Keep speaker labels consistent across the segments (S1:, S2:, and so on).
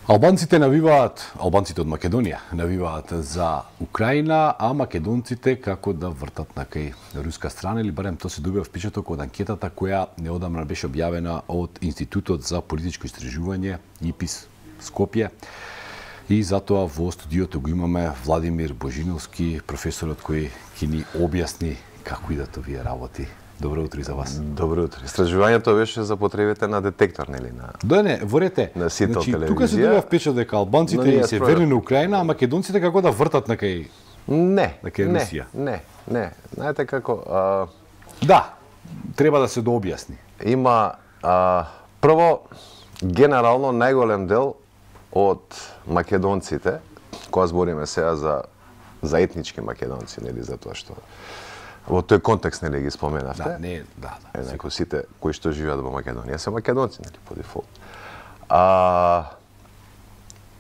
S1: Албанците навиваат, албанците од Македонија навиваат за Украина, а македонците како да вртат на кај руска страна, или барем тоа се добива впечаток од анкетата која неодамна беше објавена од Институтот за политичко истражување ИПИС Скопје. И затоа во студиото го имаме Владимир Божиновски, професорот кој ќе ни објасни како идат овие работи. Добро утро и за вас.
S2: Добро утро. Истражувањето беше за потребите на детектор, нели?
S1: Да, не, ворете.
S2: На сител телевизија.
S1: Тука се добива впечаток дека албанците се верни на Украина, а македонците како да вртат на кај Русија.
S2: Не. Знаете како...
S1: Да, треба да се дообјасни.
S2: Има, прво, генерално најголем дел од македонците, кога збориме сега за етнички македонци, нели, затоа што во тој контекст нели ги споменавте.
S1: Да.
S2: Некои сите кои што живеат во Македонија се македонци, нели, по дефолт.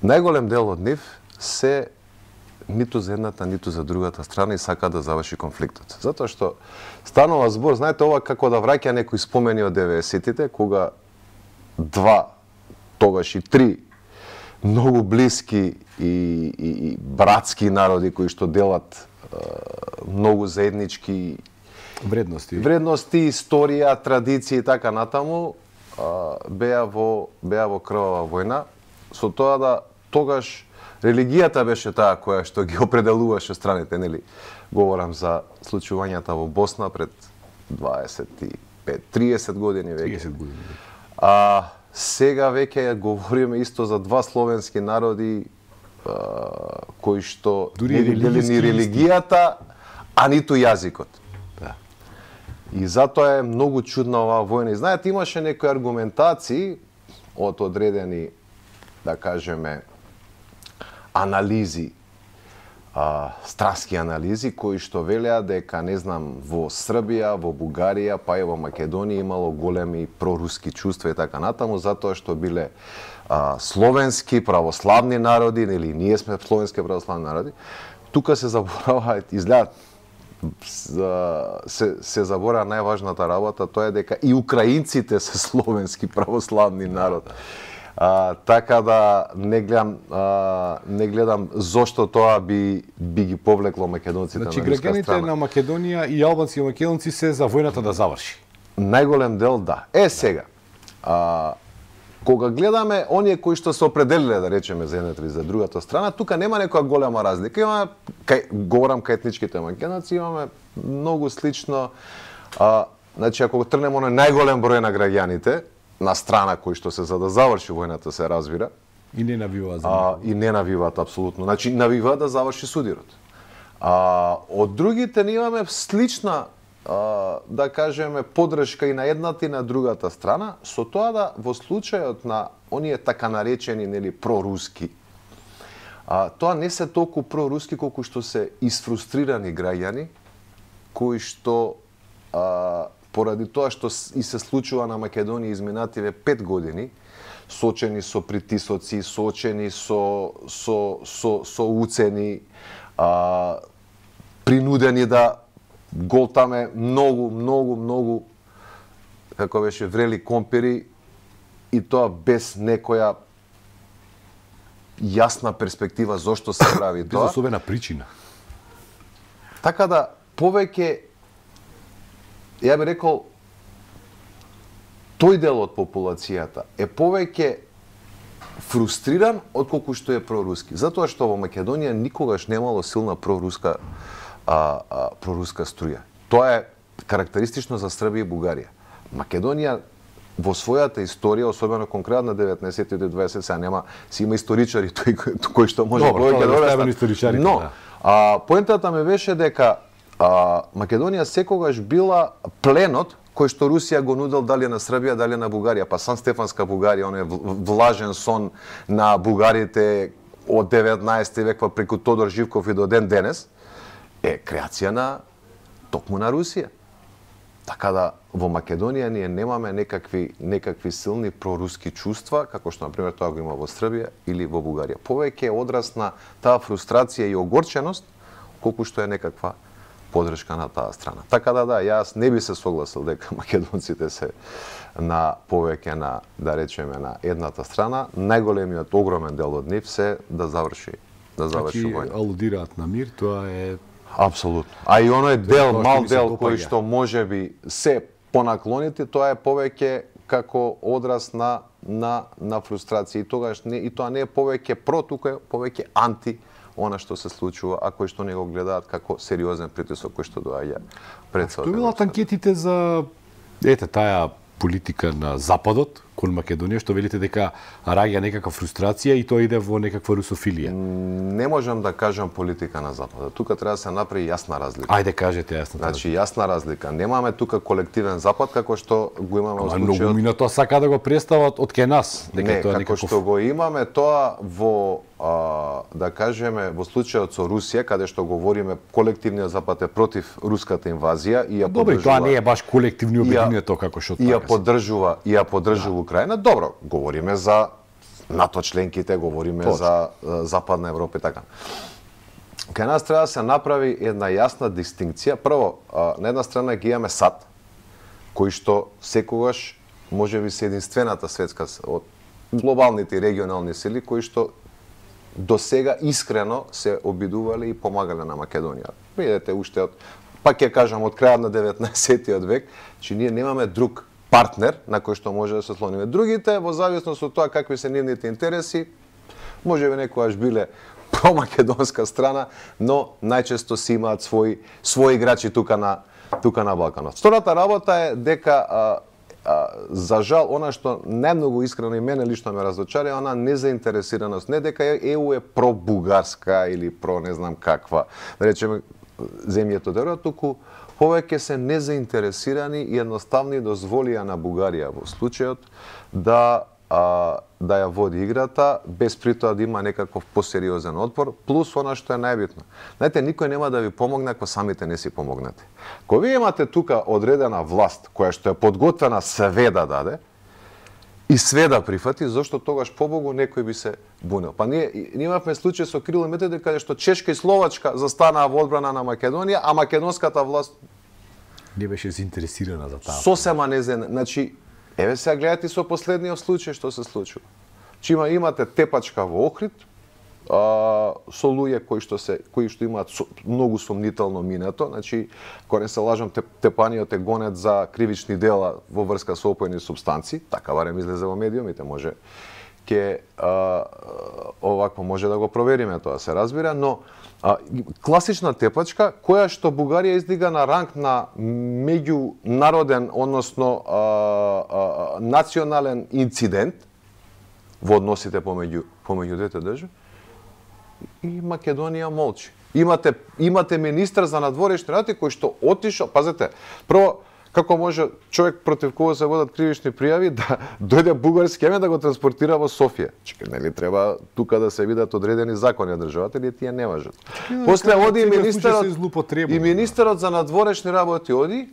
S2: Најголем дел од нив се ниту за едната, ниту за другата страна и сака да заврши конфликтот. Затоа што станува збор, знаете, ова како да враќа некои спомени од 90-тите, кога два, тогаш и три многу блиски и братски народи кои што делат многу заеднички
S1: вредности,
S2: историја, традиции и така натаму, беа во крвава војна, со тоа да тогаш религијата беше таа која што ги определуваше страните, нели? Говорам за случувањата во Босна пред 25-30 години веќе.
S1: 30 години.
S2: Сега веќе говориме исто за два словенски народи кои што не дели ни религијата, а ниту јазикот.
S1: Да.
S2: И затоа е многу чудна оваа војна. И знаете, имаше некои аргументации од одредени, да кажеме, анализи, страски анализи, кои што велеа дека, не знам, во Србија, во Бугарија, па и во Македонија имало големи проруски чувства и така натаму, затоа што биле словенски православни народи, или ние сме словенски православни народи. Тука се заборава, изгледа, се заборава најважната работа, тоа е дека и украинците се словенски православни народ. Така да не гледам зошто тоа би ги повлекло македонците на руска страна.
S1: Значи граѓаните на Македонија и албанци и македонци се за војната да заврши.
S2: Најголем дел да. Сега. Кога гледаме оние кои што се определиле, да речеме, за едната или за другата страна, тука нема некоја голема разлика. Имаме, говорам кај етничките македонци, имаме многу слично. Значи, ако тргнеме оној најголем број на граѓаните на страна кои што се за да заврши војната, се разбира.
S1: И не навиваат за
S2: и не навиваат апсолутно. Значи, навиваат да заврши судирот. Од другите не имаме слична, да кажеме, подршка и на едната и на другата страна, со тоа да во случајот на оние така наречени, нели, проруски, тоа не се толку проруски колку што се исфрустрирани граѓани кои што поради тоа што и се случува на Македонија изминативе 5 години, сочени со притисоци, сочени со уцени, принудени да голтаме многу, како беше, врели компери, и тоа без некоја јасна перспектива зошто се прави тоа.
S1: Без особена причина.
S2: Така да, повеќе, ја би рекол, тој дел од популацијата е повеќе фрустриран отколку што е проруски. Затоа што во Македонија никогаш немало силна проруска струја. Тоа е карактеристично за Србија и Бугарија. Македонија во својата историја, особено конкретно на 19 и 20, сега нема, си има историчари кои што може повеќе да објаснат. Но, поентата ми беше дека Македонија секогаш била пленот кој што Русија го нудел дали на Србија, дали на Бугарија, па Сан Стефанска Бугарија, оној влажен сон на бугарите од 19 век па преку Тодор Живков и до ден денес, е креација на токму на Русија. Така да во Македонија ние немаме некакви силни проруски чувства, како што на пример тоа го има во Србија или во Бугарија. Повеќе е одрас на таа фрустрација и огорченост, колку што е некаква поддршка на таа страна. Така да, јас не би се согласил дека македонците се на повеќе на, да речеме, на едната страна. Најголемиот огромен дел од нив се да заврши војна.
S1: Алудираат на мир, тоа е
S2: апсолутно. А и оној дел, мал дел кој што можеби се понаклоните, тоа е повеќе како одраз на фрустрација и тогаш не, и тоа не е повеќе про, тука е повеќе анти она што се случува, а кои што не го гледаат како сериозен притисок кој што доаѓа пред себе.
S1: Што билат анкетите за таа политика на Западот кон Македонија, што велите дека раѓа некаква фрустрација и тоа иде во некаква русофилија?
S2: Не можам да кажам политика на Западот. Тука треба да се направи јасна разлика.
S1: Ајде кажете јасна.
S2: Значи јасна разлика. Немаме тука колективен Запад како што го имаме во случајот.
S1: Многу мина тоа сака да го представат од кај нас, дека тоа
S2: како што го имаме тоа во да кажеме во случајот со Русија, каде што говориме колективниот Запад е против руската инвазија и ја
S1: поддржува. Добро, тоа не е баш колективно обединето како што
S2: така. И ја поддржува Украина. Добро, говориме за НАТО членките, говориме за Западна Европа и така. Кај нас треба да се направи една јасна дистинкција. Прво, на една страна ги имаме САД, кои што секогаш можеби се единствената светска од глобалните и регионални сили кои што до сега искрено се обидувале и помагале на Македонија. Видете уште од, пак ќе кажам, од крајот на 19-тиот век, че ние немаме друг партнер на кој што може да се слониме. Другите, во зависност од тоа какви се нивните интереси, можеби некојаш биле промакедонска страна, но најчесто си имаат своји играчи тука на Балканот. Втората работа е дека за жал, она што најмногу искрено и мене лично ме разочари, она незаинтересираност, не дека ЕУ е про-бугарска или про не знам каква, да речеме, земјето дерва, туку повеќе се незаинтересирани и едноставни дозволија на Бугарија во случајот да ја води играта, без при тоа да има некаков посериозен отпор, плюс она што е најбитно. Знаете, никој нема да ви помогне ако самите не си помогнете. Кога вие имате тука одредена власт, која што е подготвена све да даде, и све да прифати, зашто тогаш побогу некој би се бунел. Па ние имавме случај со Кирил и Методи, каде што Чешка и Словачка застанаа во одбрана на Македонија, а македонската власт
S1: не беше заинтересирана за таа.
S2: Сосема не значи, еве сега гледате со последниот случај што се случува. Че имате тепачка во Охрид, со луѓе кои што имаат многу сомнително минато, значи, кога не се лажам, тепаниот е гонет за кривични дела во врска со опојни супстанци, така барем излезе во медиумите, може овакво може да го провериме, тоа се разбира, но класична тепачка која што Бугарија издига на ранг на меѓународен, односно национален инцидент во односите помеѓу двете држави, и Македонија молчи. Имате министар за надворешни работи кој што отишол, пазете, прво како може човек против кого се водат кривични пријави да дојде бугарски еме да го транспортира во Софија. Чекај, нели треба тука да се видат одредени закони од државата или тие не важат. После оди и министерот за надворешни работи оди,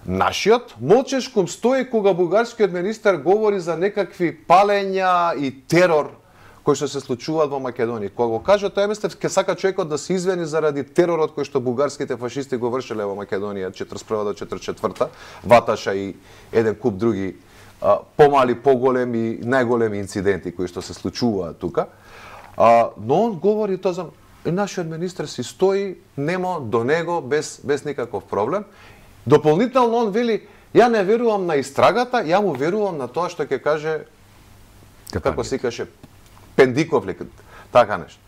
S2: Нашиот молчешком стои кога бугарскиот министер говори за некакви палења и терор кои што се случуваат во Македонија. Кога го кажа тоа мислев ќе сака човекот да се извини заради теророт кој што бугарските фашисти го вршеле во Македонија 41 до 44, Ваташа и еден куп други помали, поголеми, најголеми инциденти кои што се случуваат тука. Но он говори тоа за нашиот министер си стои немо до него без никаков проблем. Дополнително он вели ја не верувам на истрагата, ја му верувам на тоа што ќе каже како се каже Пендиковлик, така нешто.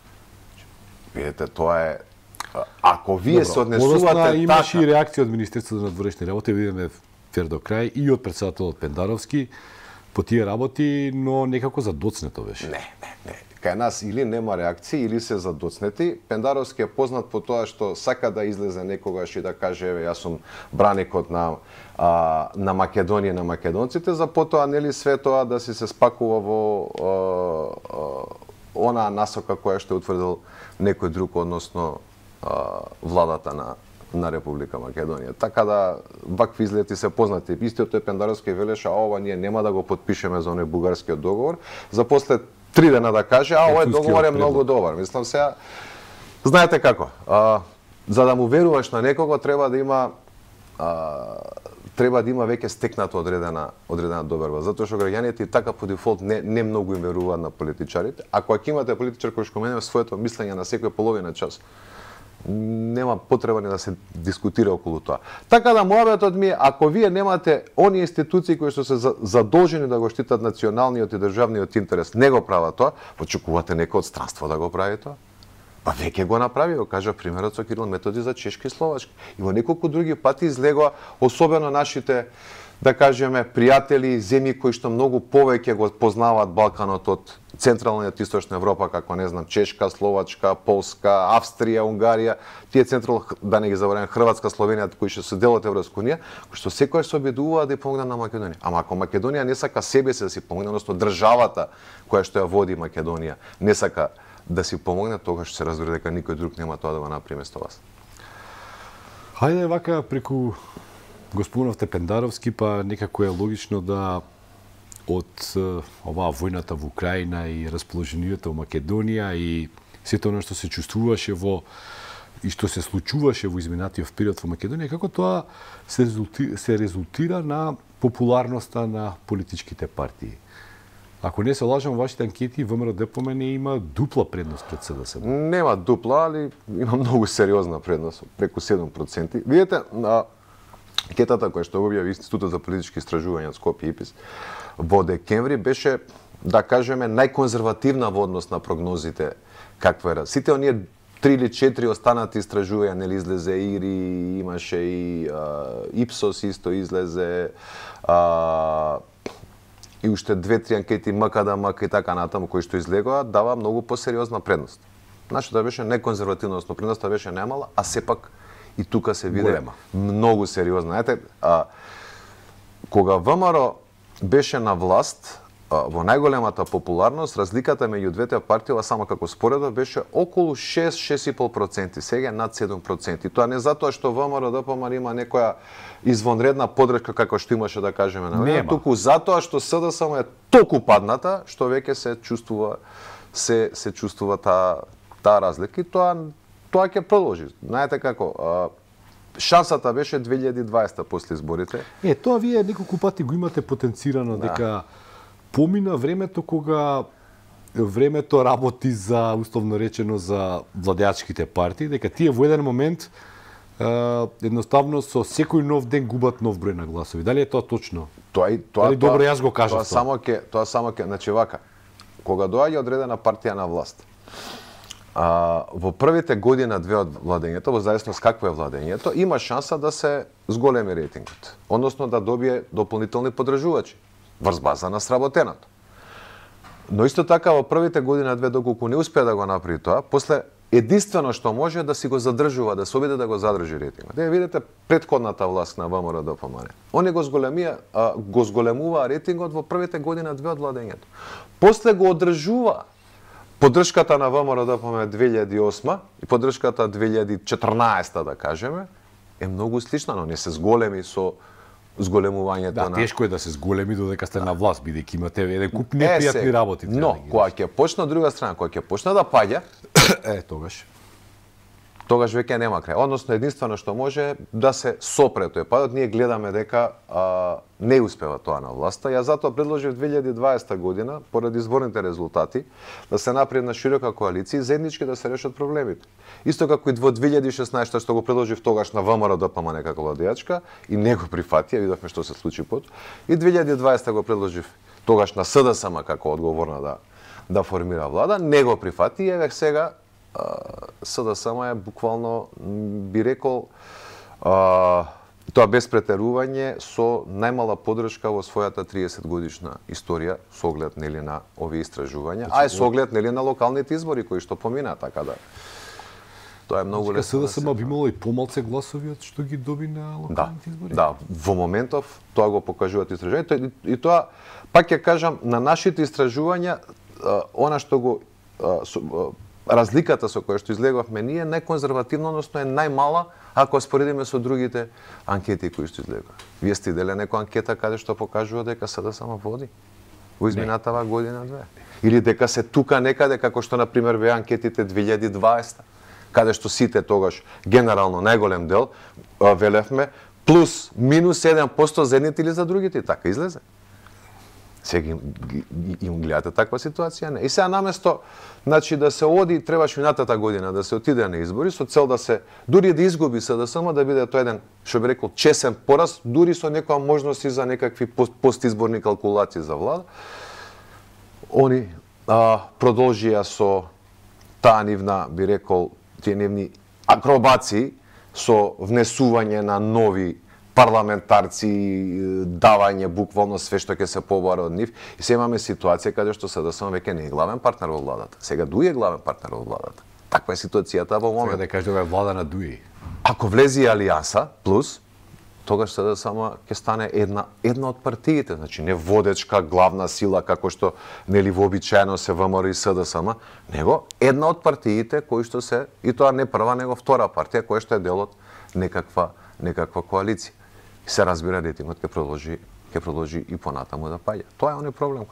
S2: Видете, тоа е ако вие се однесувате така.
S1: Имаше и реакција од Министерството за надворешни работи, видиме фер до крај и од претседателот Пендаровски по тие работи, но некако задоцнето беше.
S2: Не. Кај нас или нема реакции, или се задоцнети. Пендаровски е познат по тоа што сака да излезе некогаш и да каже, еве, јас сум браникот на Македонија, на македонците, за потоа, нели, све тоа да се спакува во она насока која што е утврдил некој друг, односно владата на Република Македонија. Така да, вакви излети се познати. Истиот тој Пендаровски велеше, ова ние нема да го потпишеме за оној бугарскиот договор, за после 3 дена да каже, овој договор е многу добар. Мислам сега, знаете како, за да му веруваш на некого треба да има веќе стекната одредена доверба, затоа што граѓаните и така по дефолт не многу им веруваат на политичарите. Ако имате политичар кој што менува своето мислење на секој половина час, нема потреба ни да се дискутира околу тоа. Така да муабетот ми е, ако вие немате оние институции кои што се задолжени да го штитат националниот и државниот интерес, не го прават тоа, очекувате некој од странство да го прави тоа? Па веќе го направи, го кажа примерот со Кирил Методи за Чешки и Словачки. И во неколку други пати излегоа, особено нашите, да кажеме, пријатели и земји кои што многу повеќе го познаваат Балканот од Централна и Источна Европа, како не знам, Чешка, Словачка, Полска, Австрија, Унгарија, тие да не ги забораваме, Хрватска, Словенија, кои што се дел од Европска унија, кои што секогаш се обидуваат да ја помогнат на Македонија. Ама ако Македонија не сака себе се да си помогне, односно државата која што ја води Македонија не сака да си помогне, тогаш се разбира дека никој друг нема тоа да го направи место вас.
S1: Хајде вака преку господинов Пендаровски, па некако е логично да од оваа војната во Украина и расположението во Македонија и сето она што се чувствуваше и што се случуваше во изминатиот период во Македонија, како тоа се резултира на популарноста на политичките партии. Ако не се лажам, вашите анкети ВМРО ДПМН има дупла предност пред СДСМ.
S2: Нема дупла, али има многу сериозна предност, преку 7%. Видете, анкетата која што го објави Институтот за политички истражувања од Скопје ИПИС во декември беше, да кажеме, најконзервативна во однос на прогнозите каква е. Сите оние 3 или 4 останати истражувања, нели излезе ИРИ, имаше и Ипсос исто излезе, и уште 2-3 анкети МКД и така натаму кои што излегоа, дава многу посериозна предност. Нашата беше неконзервативна, односно предноста беше најмала, а сепак и тука се виде многу сериозна. Знаете, кога ВМРО беше на власт, во најголемата популарност, разликата меѓу двете партии, само како споредба, беше околу 6-6,5%, сега над 7%. И тоа не затоа што ВМРО ДПМН има некоја извонредна подршка како што имаше, да кажеме, на време, туку затоа што СДСМ е толку падната што веќе се чувствува таа разлика и тоа ќе продолжи. Знаете како, шансата беше 2020 после изборите.
S1: Тоа вие неколку пати го имате потенцирано дека помина времето кога времето работи за, условно речено, за владеачките партии, дека тие во еден момент едноставно со секој нов ден губат нов број на гласови. Дали е тоа точно? Дали добро јас го кажав
S2: тоа? Тоа само ќе, значи вака, кога доаѓа одредена партија на власт, во првите година-две од владењето, во зависност какво е владењето, има шанса да се зголеми рейтингот, односно да добие дополнителни поддржувачи врз база на сработеното. Но исто така во првите година-две доколку не успеа да го направи тоа, после единствено што може да си го задржува, да се обиде да го задржи рейтингот. Видите претходната власт на ВМРО ДПМН. Они го зголемува рейтингот во првите година-две од владењето. После го одржува поддршката на ВМРО ДПМН 2008 и поддршката 2014, да кажеме, е многу слична, но не се зголеми со зголемувањето на...
S1: Тешко е да се зголеми додека сте на власт, бидејќи имате еден куп непријатни работи.
S2: Но, кога ќе почне од друга страна, кога ќе почне да паѓа, тогаш веќе нема крај. Односно, единствено што може да се сопре тој падот. Ние гледаме дека не успева тоа на власта. Ја затоа предложив 2020 година, поради изборните резултати, да се направи една широка коалиција и заеднички да се решат проблемите. Исто како и во 2016 што го предложив тогаш на ВМРО ДПМН како владеачка и не го прифатија, видовме што се случи потоа. И 2020 го предложив тогаш на СДСМ како одговорна да формира влада, не го прифати и еве сега СДСМ е буквално, би рекол, тоа без претерување, со најмала поддршка во својата 30 годишна историја со оглед нели на овие истражувања, а е со оглед нели на локалните избори кои што помина, така да тоа е многу лесно.
S1: СДСМ би имало и помалце гласови од што ги доби на локалните избори.
S2: Да, во моментов тоа го покажуваат истражувања и тоа пак ќе кажам на нашите истражувања, она што го разликата со која што излегавме ние е најконзервативно, односно е најмала ако споредиме со другите анкети кои што излегува. Вие сте виделе некоја анкета каде што покажува дека СДСМ води во изминатава година-две? Или дека се тука некаде како што на пример беа анкетите 2020? каде што сите тогаш генерално најголем дел велевме плюс минус 1% за едните или за другите, и така излезе. Сега им гледате таква ситуација, не. И сега наместо, значи, да се оди, требаш минатата година да се отиде на избори со цел да се дури да изгуби СДСМ, да биде тоа еден, што би рекол, чесен пораз, дури со некоја можности за некакви постизборни калкулации за влада. Они продолжија со таа нивна, би рекол, тие нивни акробации со внесување на нови парламентарци, давање буквално све што ќе се побара од нив, и се имаме ситуација каде што СДСМ веќе не е главен партнер во владата. Сега Дуи е главен партнер во владата. Таква е ситуацијата во моментот.
S1: Сега да кажеме влада на Дуи.
S2: Ако влезе Алијанса плюс, тогаш СДСМ ќе стане една од партиите, значи не водечка главна сила како што нели вообичаено се ВМРО и СДСМ, него една од партиите кои што се, и тоа не прва, него втора партија која што е дел од некаква коалиција. И се разбира рейтингот ќе продолжи и понатаму да паѓа. Тоа е оној проблем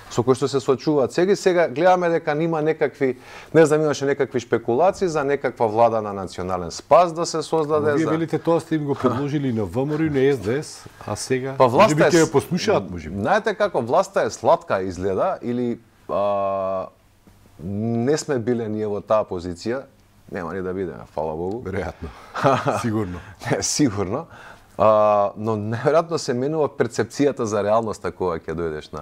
S2: со кој што се соочуваат сега гледаме дека нима некакви, не знам, имаше некакви шпекулации за некаква влада на национален спас да се создаде.
S1: Вие велите тоа сте им го предложили на ВМРО и на СДС, а сега
S2: власта
S1: ќе ја послушаат можеби.
S2: Знаете како власта е сладка изгледа или не сме биле ние во таа позиција, нема ни да бидеме, фала Богу.
S1: Веројатно. Сигурно.
S2: Не, сигурно. Но неверојатно се менува перцепцијата за реалноста кога ќе дојдеш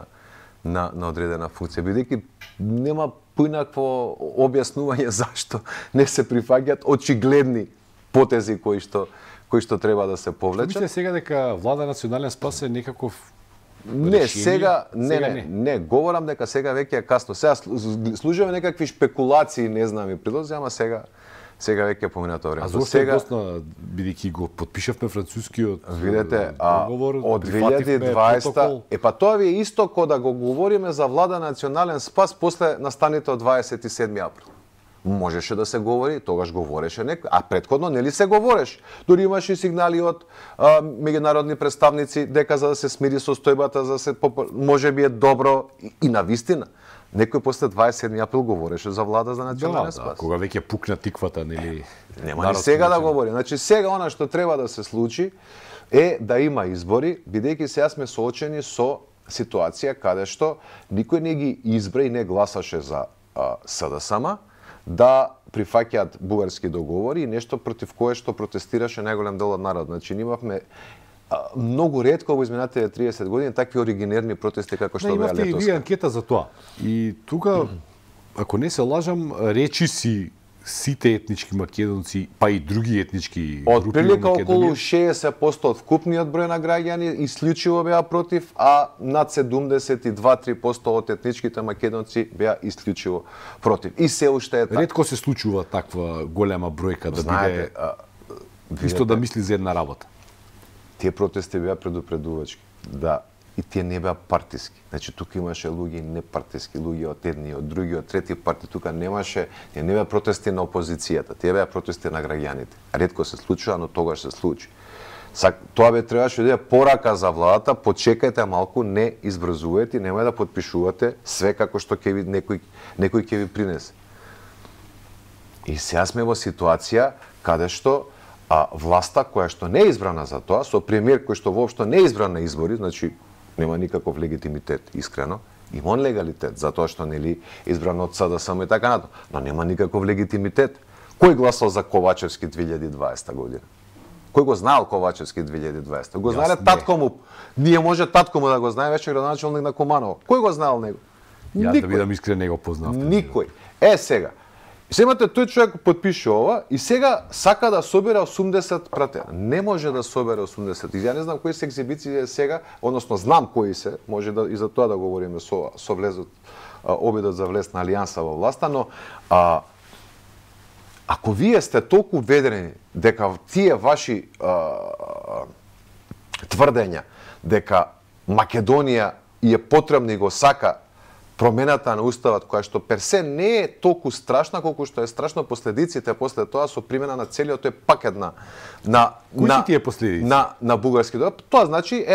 S2: на одредена функција, бидејќи нема поинакво објаснување зашто не се прифаќаат очигледни потези кои што треба да се повлечат.
S1: Мислите сега дека влада национален спас е некаков
S2: Не, сега не, говорам дека сега веќе е касно. Сега служиме некакви шпекулации, не знам и предлози, ама сега веќе поминато време.
S1: А зошто е доста, бидејќи го потпишавме францускиот договор,
S2: од 2020, па тоа ви е исто кога да го говориме за влада национален спас после настаните од 27 април. Можеше да се говори, тогаш говореше некој, а претходно нели се говореше. Дури имаше и сигнали од меѓународни представници дека за да се смири состојбата, за да се можеби е добро и навистина. Некој после 27 април говореше за влада за национален спас.
S1: Кога веќе пукна тиквата, нели?
S2: Нема ни сега да говори. Значи сега она што треба да се случи е да има избори, бидејќи сега сме соочени со ситуација каде што никој не ги избра и не гласаше за СДСМ, да прифаќаат бугарски договори и нешто против кое што протестираше најголем дел од народ. Значи имавме многу ретко во изминатите 30 години такви оригинерни протести како што беа летоска.
S1: Имавте и вие анкета за тоа. И тука, ако не се лажам, речи си сите етнички македонци, па и други етнички групи во Македонија.
S2: Отприлика околу 60% од вкупниот број на граѓани исклучиво беа против, а над 72-3% од етничките македонци беа исклучиво против. И се уште е така.
S1: Ретко се случува таква голема бројка да биде исто да мисли за една работа.
S2: Тие протести беа предупредувачки. Да, и тие не беа партиски. Значи тука имаше луѓе непартиски, луѓе од едни, од други, од трети партии, тука немаше, не беа протести на опозицијата, тие беа протести на граѓаните. Ретко се случува, но тогаш се случи. Тоа требаше да е порака за владата, почекајте малку, не избрзувајте, немај да потпишувате све како што ќе ви некој ќе ви принесе. И сега сме во ситуација каде што власта која што не е избрана за тоа, со премиер кој што воопшто не е избран на избори, значи нема никаков легитимитет, искрено, има он легалитет, затоа што нели избран од СДСМ и така натаму, но нема никаков легитимитет. Кој гласал за Ковачевски 2020 година? Кој го знаел Ковачевски 2020? Го знаеле татко му. Ние може татко му да го знае, веќе градоначелник на Куманово. Кој го знаел него?
S1: Јас да бидам искрен, не го познав.
S2: Никој. Сега, имате тој човек потпише ова и сега сака да собере 80 пратена. Не може да собере 80. И ја не знам кои се екзибиции сега, односно знам кои се, може да и за тоа да говориме со влезот обидот за влез на Алијанса во власта, но ако вие сте толку ведрени дека тие ваши тврдења дека Македонија е потребна и го сака промената на уставот, која што персе не е толку страшна колку што е страшно последиците после тоа со примена на целиот тој пакет на бугарски договор. Тоа значи,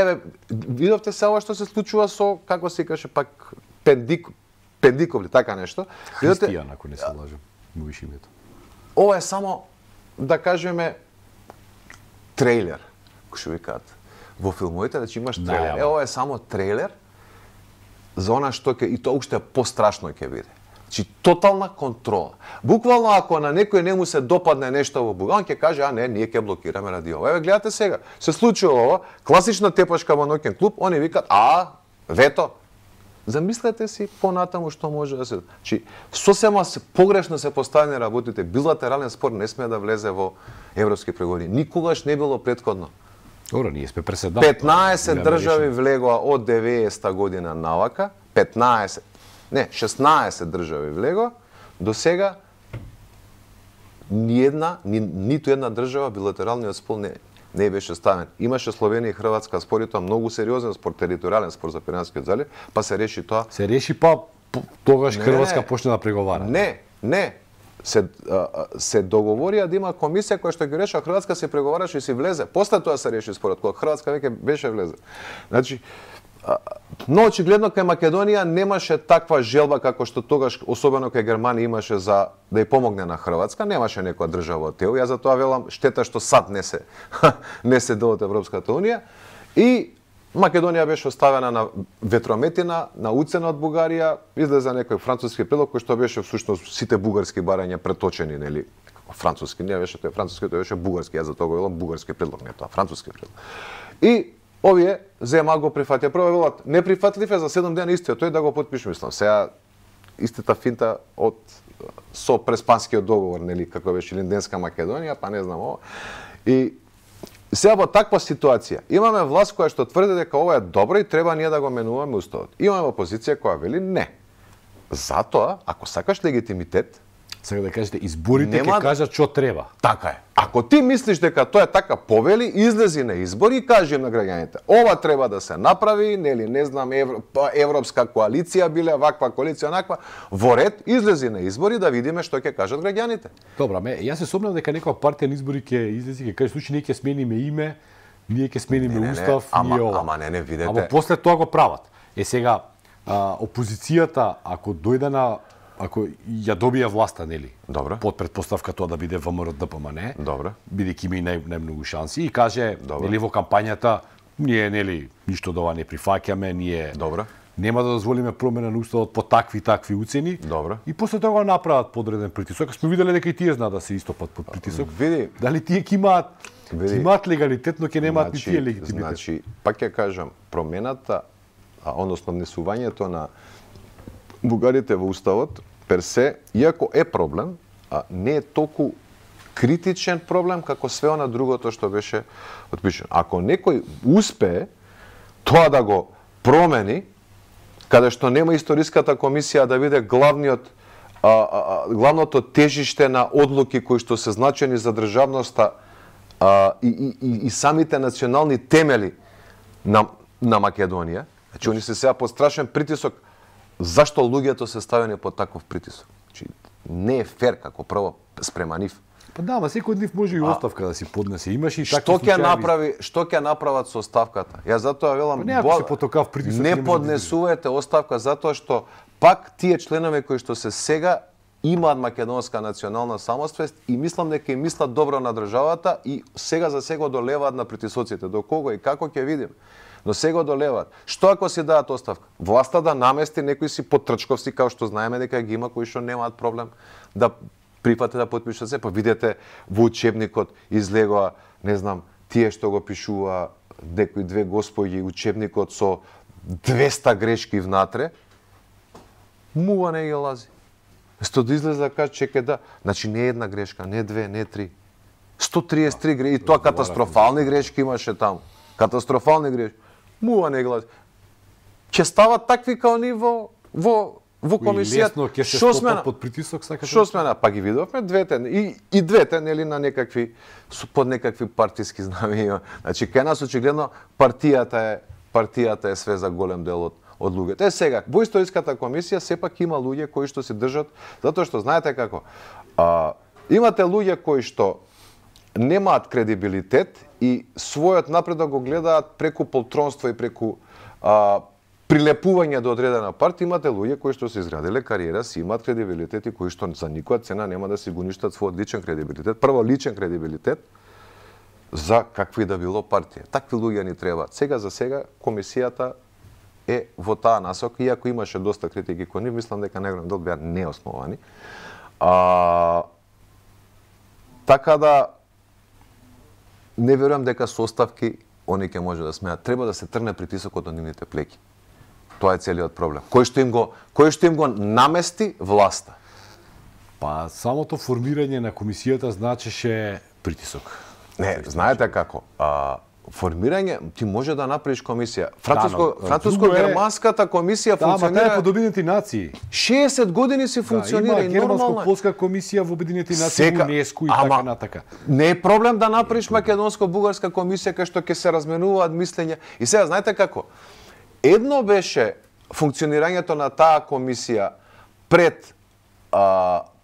S2: видовте се ова што се случува со, како се каже пак, Пендиковли, така нешто.
S1: Христијан, ако не се лажам, му виш името.
S2: ова е само, да кажеме, трейлер, кој што викаат во филмовите, значи имаш трейлер. Ова е само трейлер за она што ќе, и тоа уште пострашно ќе биде. Значи, тотална контрола. Буквално, ако на некој не му се допадне нешто во Буга, он ќе каже, а не, ние ќе блокираме ради ова. Еве, гледате сега, се случува ова, класична тепашка во ноќен клуб, они викат, вето. Замислете си понатаму што може да се... Значи, сосема погрешно се поставени работите. Билатерален спор не смее да влезе во европски преговори. Никогаш не било претходно.
S1: Добро, ние сме преседател.
S2: 15 држави влегоа од 90-та година навака, 16 држави влегоа, до сега ниту една држава билатералниот спор не беше ставен. Имаше Словенија и Хрватска спор, и тоа многу сериозен спор, територијален спор за Пиренскиот залив, па се реши тоа.
S1: Се реши, па тогаш Хрватска почна да преговара.
S2: Не. Се договорија да има комисија која што ги решава, Хрватска се преговараше и си влезе. После тоа се реши спорот, кога Хрватска веќе беше влезе. Значи, но очигледно кај Македонија немаше таква желба како што тогаш, особено кај Германија, имаше за да ја помогне на Хрватска, немаше некоја држава од тео. Ја затоа велам, штета што САД не се дел од Европската унија, и Македонија беше оставена на ветрометина, на уцена од Бугарија, излезе некој француски предлог кој што беше всушност сите бугарски барања преточени, нели, француски, не беше тој француски, тој беше бугарски, ја затоа го велам бугарски предлог, не тоа француски предлог. И овие зема го прифатија. Прво велат неприфатлив е, за 7 дена истиот тој да го потпише, мислам. Сега истата финта со преспанскиот договор, нели, како беше Линденска Македонија, па не знам ова. И сега во таква ситуација имаме власт која што тврди дека ова е добро и треба ние да го менуваме уставот. Имаме опозиција која вели не. Затоа, ако сакаш легитимитет,
S1: сега да кажете, изборите ќе кажат што треба.
S2: Така е. Ако ти мислиш дека тоа е така, повели, излези на избори и кажи на граѓаните, ова треба да се направи, нели, не знам, европска коалиција биле, ваква коалиција, онаква, во ред, излези на избори да видиме што ќе кажат граѓаните.
S1: Добра, јас се сомневам дека некоја партија на избори ќе излези и ќе каже, случај ние ќе смениме име, ние ќе смениме устав, ние ова.
S2: Ама не, видете.
S1: Ама после тоа го прават. Сега, опозицијата, ако ја добија власта, нели?
S2: Добро.
S1: Под предпоставка тоа да биде ВМРО ДПМН.
S2: Добро.
S1: Бидејќи има и најмногу шанси, и каже, нели, во кампањата, ние, нели, ништо од ова не прифаќаме, ние нема да дозволиме промена на уставот по такви уцени.
S2: Добро.
S1: И после тоа го направат подреден притисок. Сме виделе дека и тие знаат да се истопат под притисок.
S2: Види.
S1: Дали тие ќе имаат легалитет, но ќе немаат ни тие легитимитет.
S2: Значи, пак ќе кажам, промената, односно внесувањето на бугарите во уставот, персе, иако е проблем, не е толку критичен проблем како све она другото што беше отпишено. Ако некој успее тоа да го промени, каде што нема историската комисија да биде главното тежиште на одлуки кои што се значени за државноста и самите национални темели на Македонија, значи они се сега под страшен притисок. Зашто луѓето се ставени под таков притисок? Значи, не е фер како прво спрема нив.
S1: Па да, ама секој од нив може и оставка да си поднесе. Имаше и такви
S2: случаи. Што ќе направат со оставката? Ја затоа велам, не поднесувате оставка затоа што пак тие членови кои што се сега имаат македонска национална самоствест и мислам дека им мислат добро на државата и сега за сега одолеваат на притисоците. До кого и како ќе видим? Но сега одолеваат. Што ако си дадат оставка? Власта да намести некои си потрчковци, као што знаеме дека ги има, кои што немаат проблем да прифате да потпишат се. Па видете во учебникот излегоа, не знам, тие што го пишува некои две господи учебникот со 200 грешки внатре, мува не ги лази. Сто да излезе да каже, чекај да, значи не една грешка, не две, не три. 133 грешки, и тоа катастрофални грешки имаше таму. Катастрофални грешки. Мува не гласи. Ќе стават такви као ни во комисијата.
S1: Лесно ќе се стопат под притисок, сакате?
S2: Што смена? Па ги видовме двете и двете, нели, на некакви под некакви партиски знамења. Значи кај нас очигледно партијата е све за голем дел од луѓето. Сега во историската комисија сепак има луѓе кои што се држат, затоа што знаете како, имате луѓе кои што немаат кредибилитет и својот напредок го гледаат преку полтронство и преку прилепување до одредена партија, имате луѓе кои што се изградиле кариера, си имаат кредибилитет и кои што за никоја цена нема да си го уништат својот личен кредибилитет. Прво личен кредибилитет за какви да било партија. Такви луѓе ни требаат. Сега за сега комисијата е во таа насока, иако имаше доста критики кон нив, мислам дека најголем дел беа неосновани. Така да не верувам дека со оставки они ќе може да смеат. Треба да се тргне притисокот од нивните плеки. Тоа е целиот проблем. Кој што им го намести власта?
S1: Па самото формирање на комисијата значеше притисок.
S2: Не, знаете како? Формирање, ти може да направиш комисија. Француско-германската комисија функционира...
S1: Да, под Обединети нации.
S2: 60 години си функционира и нормално.
S1: Има германско-полска комисија во Обединети нации, УНЕСКО и така натака.
S2: Не е проблем да направиш македонско-бугарска комисија кај што ќе се разменуваат мислења. И сега, знаете како? Едно беше функционирањето на таа комисија пред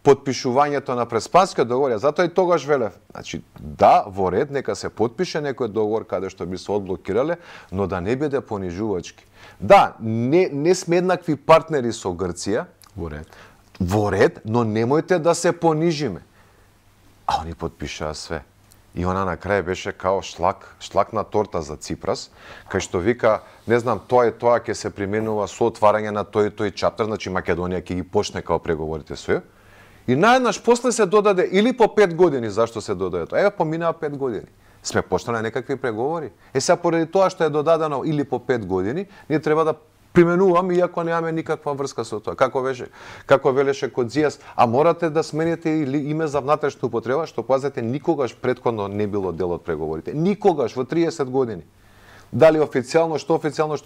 S2: потпишувањето на Преспанскиот договор, затоа и тогаш велев, значи да, во ред нека се потпише некој договор каде што би се одблокирале, но да не биде понижувачки. Да, не сме еднакви партнери со Грција, во ред, но немојте да се понижиме. А они потпишаа све. И она на крај беше као шлак на торта за Ципрас, кај што вика, не знам, тоа ќе се применува со отварање на тој чаптер, значи Македонија ќе ги почне као преговорите со ја. И наеднаш после се додаде или по 5 години, зашто се додаде тоа? Еве поминаа 5 години. Сме почнале некакви преговори. Сега поради тоа што е додадено или по 5 години, ние треба да применуваме иако немаме никаква врска со тоа. Како велеше Кодзијас, а морате да смените или име за внатрешна употреба, што пазете никогаш претходно не било дел од преговорите. Никогаш во 30 години. Дали официјално, што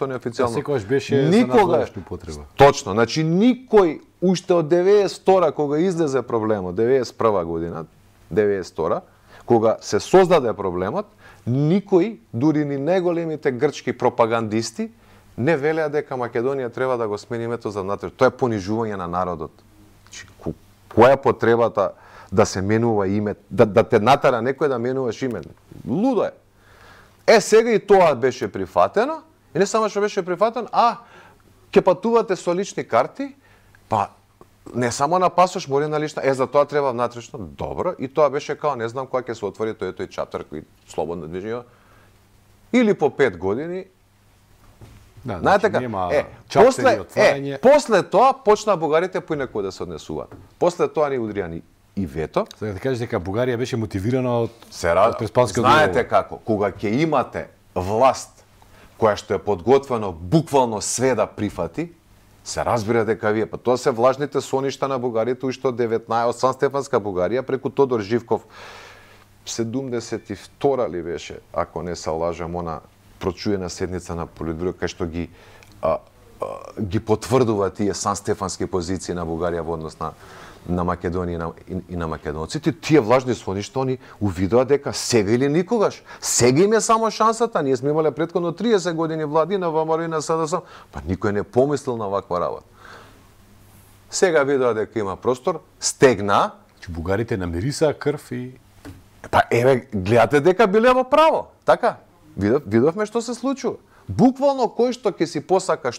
S2: неофицијално.
S1: Секогаш беше за надворешна употреба.
S2: Точно, значи никој уште од 92 кога излезе проблемот, 91 година, 92 кога се создаде проблемот, никој, дури ни најголемите грчки пропагандисти, не велеа дека Македонија треба да го смени името за внатрешно. Тоа е понижување на народот. Значи, која е потребата да се менува име, да те натера некој да менуваш име? Лудо е. Сега и тоа беше прифатено, и не само што беше прифатено, ќе патувате со лични карти, па не само на пасош, мори на лична, за тоа треба внатрешно, добро, и тоа беше као, не знам кога ќе се отвори тој чаптер, кој слободно движење, или по 5 години.
S1: Да, знаете
S2: така, после тоа почна бугарите поинаку да се однесуваат. После тоа ни удрија и вето.
S1: Сега да кажеш дека Бугарија беше мотивирана од Преспанскиот
S2: договор. Знаете како, кога ќе имате власт која што е подготвено буквално све да прифати, се разбира дека вие, тоа се влажните соништа на бугарите уште од 19 од Сан-Стефанска Бугарија преку Тодор Живков 72 ли беше, ако не се лажам, она прочуена седница на Политбюро кај што ги потврдува тие Сан-Стефански позиции на Бугарија во однос на Македонија и на македонците. Тие влажни соништа они увидоа дека сега или никогаш. Сега им е само шансата. Ние сме имале претходно 30 години владина во ВМРО и на СДСМ, па никој не помислил на ваква работа. Сега видоа дека има простор, стегна.
S1: Бугарите намирисаа крв и...
S2: Па еве, гледате дека биле во право. Така, видовме што се случува. Буквално кој што ќе си посака,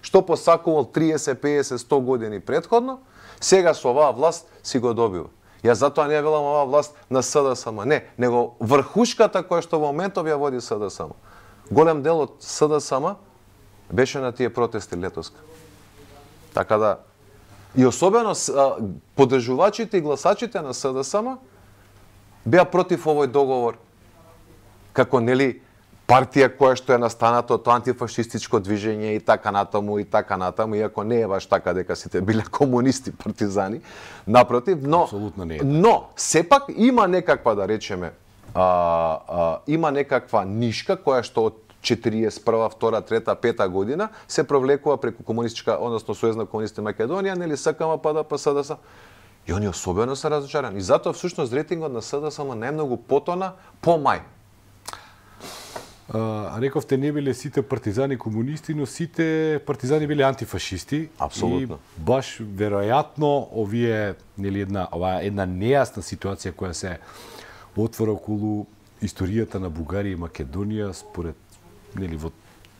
S2: што посакувал 30, 50, 100 години претходно, сега со оваа власт си го добива. Јас затоа не велам оваа власт на СДСМ, не, него врхушката која што во моментов ја води СДСМ. Голем дел од СДСМ беше на тие протести летоска. Така да, и особено поддржувачите и гласачите на СДСМ беа против овој договор, како нели партија која што е настаната од антифашистичко движење и така натаму, иако не е баш така дека сите биле комунисти, партизани, напротив, но сепак има некаква, да речеме, има некаква нишка која што од 41, 2, 3, 5 година се провлекува преку комунистичка, односно Сојузна комунисти Македонија, нели СКМ, ПДП, СДСМ. И они особено се разочарани. И затоа всушност рейтингот на СДСМ најмногу потона по мај.
S1: Рековте не биле сите партизани комунисти, но сите партизани биле антифашисти.
S2: Апсолутно.
S1: И баш веројатно овие една нејасна ситуација која се отвора околу историјата на Бугарија и Македонија според во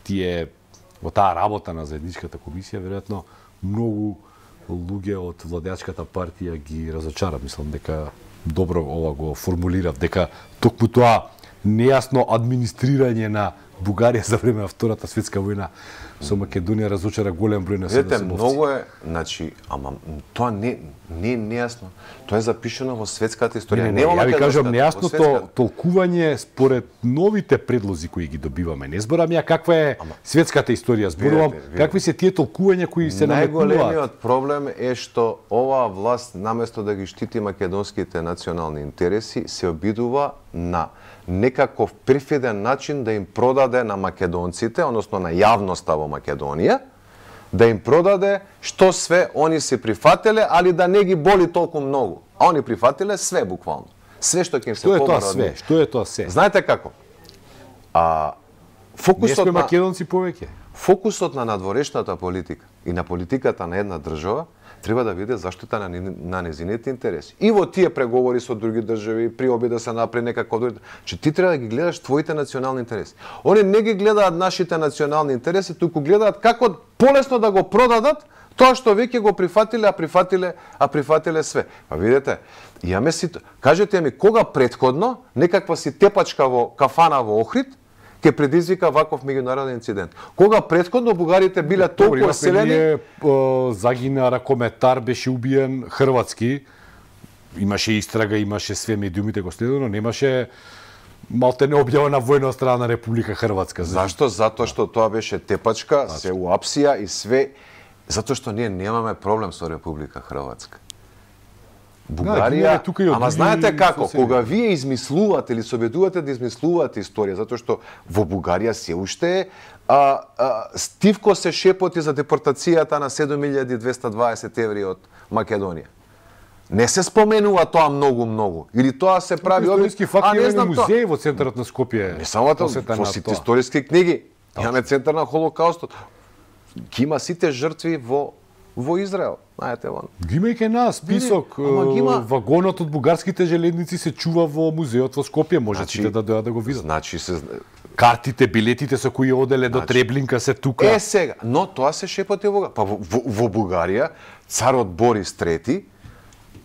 S1: тие во таа работа на заедничката комисија, веројатно многу луѓе од владеачката партија ги разочара. Мислам дека добро ова го формулирав, дека токму тоа нејасно администрирање на Бугарија за време на Втората светска војна со Македонија разочара голем број на
S2: седмовци. Многу е, значи, ама тоа не е нејасно. Тоа е запишано во светската историја.
S1: Не, ја ви кажам нејасното толкување според новите предлози кои ги добиваме. Не зборам ја каква е светската историја, зборувам какви се тие толкувања кои се наметнуваат.
S2: Најголемиот проблем е што оваа власт наместо да ги штити македонските национални интереси, се обидува на некаков перфиден начин да им продаде на македонците, односно на јавноста во Македонија, да им продаде што све они се прифателе, али да не ги боли толку многу. А они прифателе све буквално. Све што ќе им се побара.
S1: Што е тоа све?
S2: Знаете како?
S1: Фокусот на македонци повеќе.
S2: Фокусот на надворешната политика и на политиката на една држава треба да биде заштита на незините интереси. И во тие преговори со други држави, при обид да се направи некако други, че ти треба да ги гледаш твоите национални интереси. Они не ги гледаат нашите национални интереси, туку гледаат како полесно да го продадат тоа што веќе го прифатиле, а прифатиле све. Па видете, кажете ми кога претходно некаква си тепачка во кафана во Охрид ќе предизвика ваков меѓународен инцидент. Кога претходно бугарите биле толку оселени,
S1: загина ракометар, беше убиен хрватски, имаше истрага, имаше све, медиумите го следено, немаше малте не објавена војна од страна на Република Хрватска.
S2: Зашто? Затоа што тоа беше тепачка, се уапсија и све, затоа што ние немаме проблем со Република Хрватска. Бугарија, ама знаете како, кога вие измислувате или се обидувате да измислувате историја, затоа што во Бугарија се уште стивко се шепоти за депортацијата на 7220 еври од Македонија. Не се споменува тоа многу. Или тоа се прави
S1: историски факти, не знам музеј во центарот на Скопје.
S2: Не само тоа, во сите историски книги. Имаме центар на Холокаустот. Ки има сите жртви во Израел, знаете вон.
S1: Ги има и кај нас список, вагонот од бугарските железници се чува во музеот во Скопје, можете да дојдат да го видат.
S2: Значи
S1: картите, билетите со кои оделе до Треблинка се тука.
S2: Сега, но тоа се шепоти во Бугарија, царот Борис III,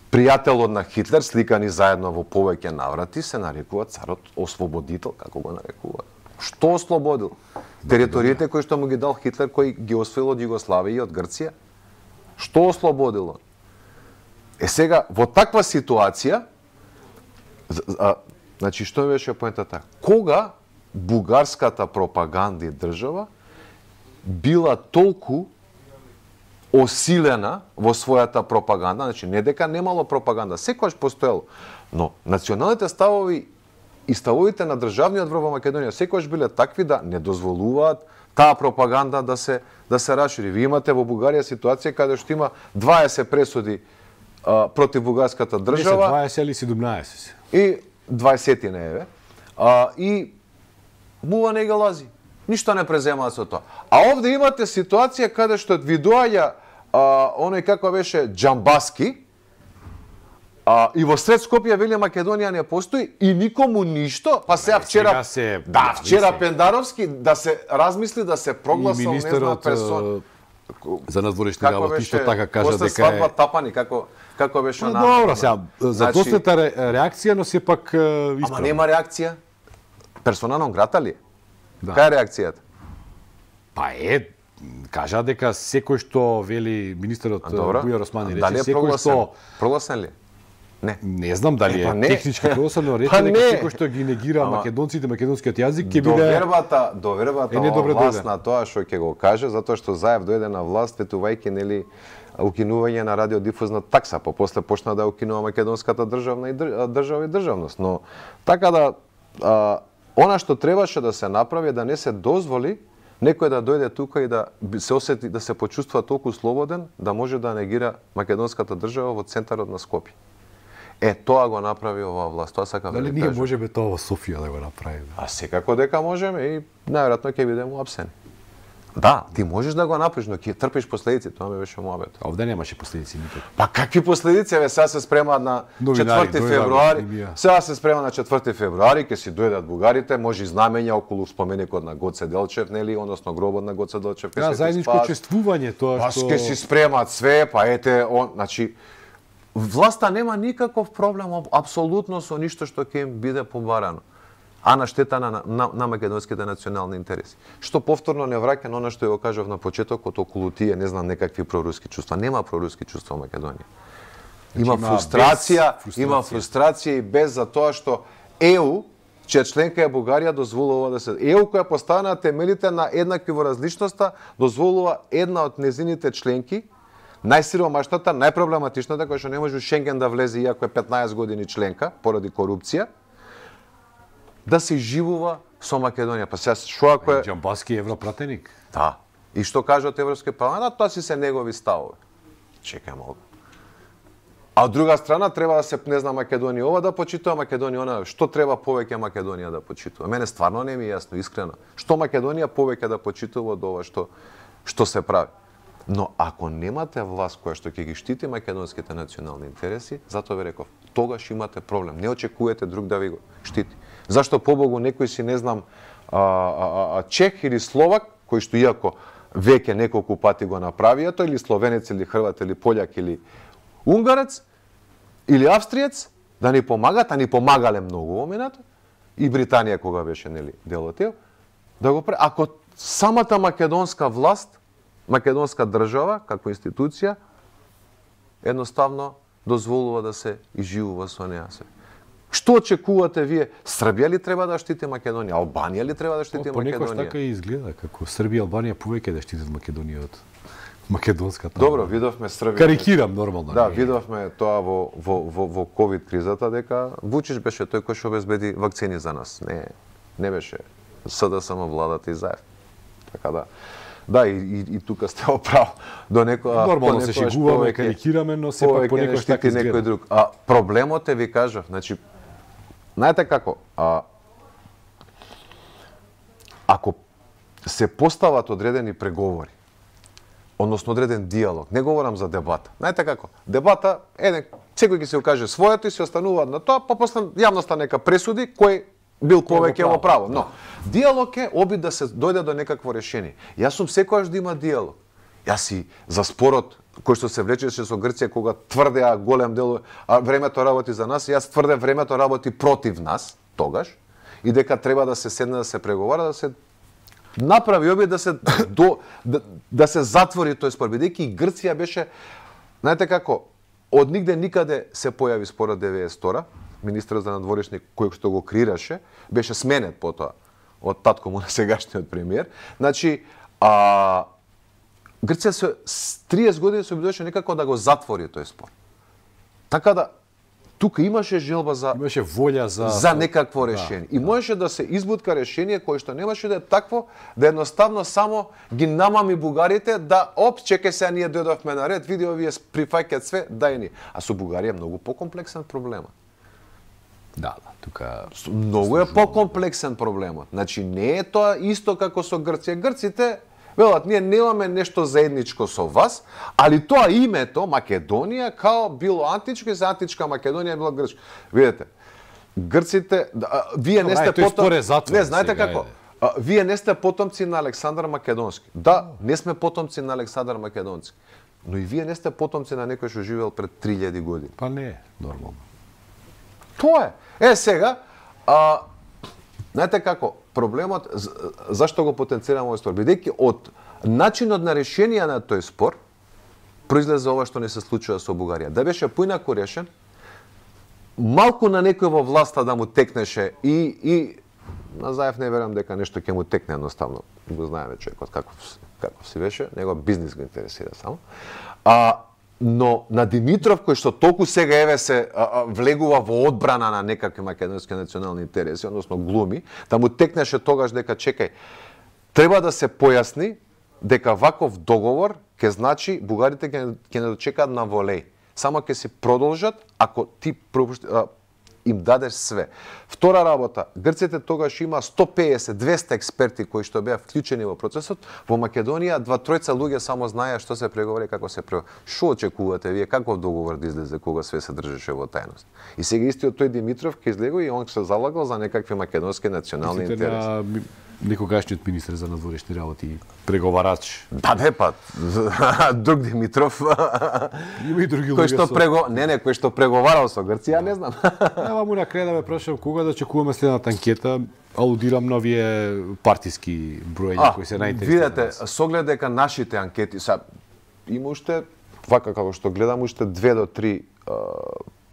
S2: пријателот на Хитлер, сликани заедно во повеќе наврати, се нарекува царот ослободител, како го нарекува. Што ослободил? Териториите кои што му ги дал Хитлер, кои ги освоил од Југославија и од Грција? Што ослободило? Сега, во таква ситуација, значи, што беше поентата? Кога бугарската пропаганда и држава била толку осилена во својата пропаганда, значи, не дека немало пропаганда, секогаш постоело, но националните ставови и ставовите на државниот врв во Македонија секогаш биле такви да не дозволуваат таа пропаганда да се расшири. Ви имате во Бугарија ситуација каде што има 20 пресуди против бугарската држава.
S1: 20 или 17.
S2: И 20 не еве. И мува не ги лази. Ништо не преземаат со тоа. А овде имате ситуација каде што ви доаѓа оној како беше Џамбаски, и во сред Скопје вели Македонија не постои и никому ништо, па сега вчера вчера Пендаровски да се размисли да се прогласа незна персона
S1: за надворешни работи што така кажа дека
S2: е свадба Тапани како беше на.
S1: Добро, сега за доста реакција, но сепак исправна.
S2: Ама нема реакција. Персона нон грата ли? Кај е реакцијата?
S1: Па кажа дека секој што вели министерот Бујар Османи рече секој што
S2: прогласен ли?
S1: Не знам дали е технички прогласен, но рече дека секој што ги негира македонците, македонскиот јазик ќе биде
S2: довербата власт на тоа што ќе го каже, затоа што Заев дојде на власт ветувајќи нели укинување на радиодифузна такса, па после почна да укинува македонската држава и државност, но така да она што требаше да се направи да не се дозволи некој да дојде тука и да се осети, да се почувствува толку слободен, да може да негира македонската држава во центарот на Скопје. Тоа го направи оваа власт, тоа сакам да
S1: кажам. Дали ние можеме тоа во Софија да го направиме?
S2: Секако дека можеме и најверојатно ќе бидеме уапсени. Да, ти можеш да го направиш, но ќе трпиш последици, тоа ми беше муабет.
S1: А овде немаше последици никак.
S2: Па какви последици, сега се спрема на 4 февруари. Сега се спрема на 4 февруари, ќе си дојдат бугарите, може и знамења околу споменикот на Гоце Делчев, нели, односно гробот на Гоце Делчев.
S1: Да, заедничко чествување, тоа што
S2: ќе си спремат све, па ете, значи власта нема никаков проблем апсолутно со ништо што ќе им биде побарано, а на штета на македонските национални интереси. Што повторно не враќа на она што ја кажав на почетокот околу тие, не знам, некакви проруски чувства. Нема проруски чувства во Македонија. Има фрустрација и без за тоа што ЕУ, чија членка е Бугарија, дозволува да се ЕУ која поставена на темелите на еднакви во различноста, дозволува една од незините членки, најсиромашната, најпроблематичната, која што не може у Шенген да влезе иако е 15 години членка поради корупција, да се живува со Македонија. Па сега што ако е
S1: Џамбаски европратеник?
S2: Да. И што кажат Европскиот парламент, тоа си се негови ставови. Чекај малку. А од друга страна треба да се, не знам, Македонија ова да почитува, Македонија она, што треба повеќе Македонија да почитува? Мене стварно не ми е јасно, искрено. Што Македонија повеќе да почитува од ова што се прави? Но ако немате власт која што ќе ги штити македонските национални интереси, затоа ви реков, тогаш имате проблем. Не очекувате друг да ви го штити. Зашто побогу некој си, не знам, чех или словак, кој што иако веќе неколку пати го направија тоа, или словенец, или хрват, или пољак, или унгарец, или австриец, да ни помагат, а ни помагале многу во минато, и Британија кога беше, нели, дел од тел, да го прави. Ако самата македонска власт, македонска држава, како институција, едноставно дозволува да се изживува со неа се. Што очекувате вие? Србија ли треба да штити Македонија? Албанија ли треба да штити Македонија?
S1: Понекогаш така и изгледа, како Србија и Албанија повеќе да штитат Македонија од македонската.
S2: Добро, видовме Србија.
S1: Карикирам нормално.
S2: Да, видовме тоа во ковид кризата дека Вучич беше тој кој што обезбеди вакцини за нас. Не беше СДСМ владата и Заев. Така да. Да, и тука сте оправ до некоја
S1: нормално се шегуваме, карикираме, но сепак понекогаш така изгледа.
S2: Некој друг. А проблемот е, ви кажав, значи знаете како, ако се постават одредени преговори, односно одреден диалог, не говорам за дебата. Знаете како, дебата секој ќе се окаже своето и се остануваат на тоа, па после јавноста нека пресуди кој бил повеќе во право. Но диалог е обид да се дојде до некакво решение. Јас сум секогаш да има диалог. Јас си за спорот кој што се влечеше со Грција кога тврдеа голем дел времето работи за нас, јас тврде времето работи против нас тогаш и дека треба да се седне да се преговара, да се направи обид да се затвори тој спор, бидејќи Грција беше, знаете како, од нигде никаде се појави спорот 92-ра, министерот за надворешни кој што го креираше, беше сменет потоа од татко му на сегашниот премиер. Значи, Грција се 30 години се обидуваше некако да го затвори тој спор. Така да тука имаше желба
S1: имаше волја
S2: за некакво решение. И можеше да се избутка решение кое што немаше да е такво да едноставно само ги намами бугарите да чекај се ние дојдовме на ред, види овие прифаќаат све, дај ни. А со Бугарија е многу покомплексен проблемот.
S1: Да, тука
S2: многу е покомплексен проблемот. Значи не е тоа исто како со Грција. Грците велат, ние немаме нешто заедничко со вас, али тоа името Македонија као било античко и за античка Македонија било грчко. Видете, грците, вие не сте потомци. Не, знаете како? Вие не сте потомци на Александар Македонски. Да, не сме потомци на Александар Македонски. Но и вие не сте потомци на некој што живеел пред 3000 години.
S1: Па не е нормално.
S2: Тоа е. Сега, знаете како, проблемот, зашто го потенцирам овој спор? Бидејќи од начинот на решение на тој спор, произлезе ова што не се случува со Бугарија. Да беше поинаку решен, малку на некој во власта да му текнеше и на Заев не верам дека нешто ќе му текне едноставно. Го знаеме човекот каков си беше, него бизнис го интересира само. Но на Димитров, кој што толку сега еве се влегува во одбрана на некакви македонски национални интереси, односно глуми, да му текнеше тогаш дека чекај, треба да се појасни дека ваков договор ќе значи бугарите ќе не дочекаат на волеј. Само ќе си продолжат ако ти им дадеш све. Втора работа, грците тогаш има 150-200 експерти кои што беа вклучени во процесот. Во Македонија 2-3 луѓе само знаеа што се преговари, како се преговари. Што очекувате вие, каков договор да излезе кога све се држеше во тајност? И сега истиот тој Димитров ќе излегува и он се залагал за некакви македонски национални интереси.
S1: Некогашниот министер за надворешни работи, преговарач.
S2: Да, не па, друг Димитров.
S1: Има и други
S2: кој што кој што преговарал со Грција, не знам.
S1: Ева му на крај да ме прашам кога да очекуваме следната анкета. Аудирам на овие партиски броења кои се најинтересни.
S2: Видете, со оглед дека нашите анкети има уште вака како што гледам уште 2 до 3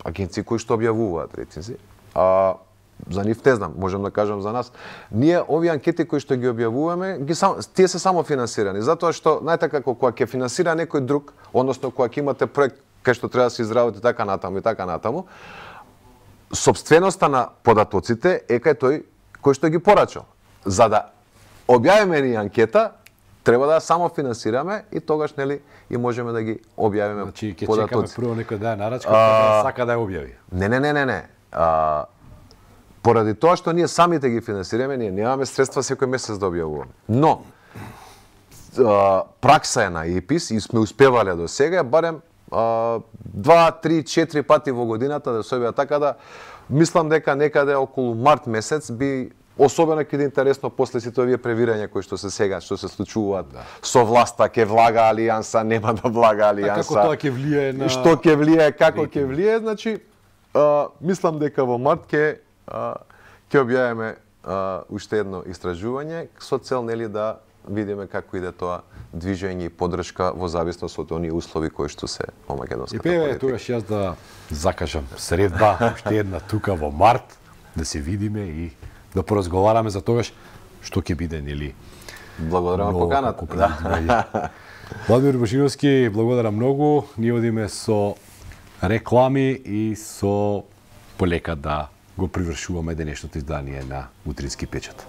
S2: агенции кои што објавуваат рейтинзи. За нив не знам, можам да кажам за нас. Ние овие анкети кои што ги објавуваме, тие се само финансирани, затоа што знаете како кога ќе финансира некој друг, односно кога ќе имате проект кај што треба да се изработи така натаму, сопственоста на податоците е кај тој кој што ги порачал. За да објавиме ни анкета, треба да само финансираме и тогаш нели и можеме да ги објавиме
S1: податоци. Значи ќе
S2: податоци.
S1: чекаме прво некој да ја нарачка, да сака да ја објави.
S2: Не. Поради тоа што ние самите ги финансираме, ние немаме средства секој месец да објавуваме. Но пракса е на ЕПИС и сме успевале до сега барем 2, 3, 4 пати во годината да се објава, така да мислам дека некаде околу март месец би особено ќе е интересно после сите овие превирања кои што се сега, што се случуваат со власта, ќе влага алијанса, нема да влага алијанса.
S1: Како тоа ќе влие на
S2: што ќе влие, како ќе влие, значи мислам дека во март ќе објавиме уште едно истражување со цел нели да видиме како иде тоа движење и поддршка во зависност од оние услови кои што се во македонската политика.
S1: И тогаш јас да закажам средба уште една тука во март да се видиме и да поразговараме за тогаш што ќе биде нели.
S2: Благодарам за поканата.
S1: Владимир Божиновски, благодарам многу. Ние одиме со реклами и со полека да го привршуваме денешното издание на Утрински печат.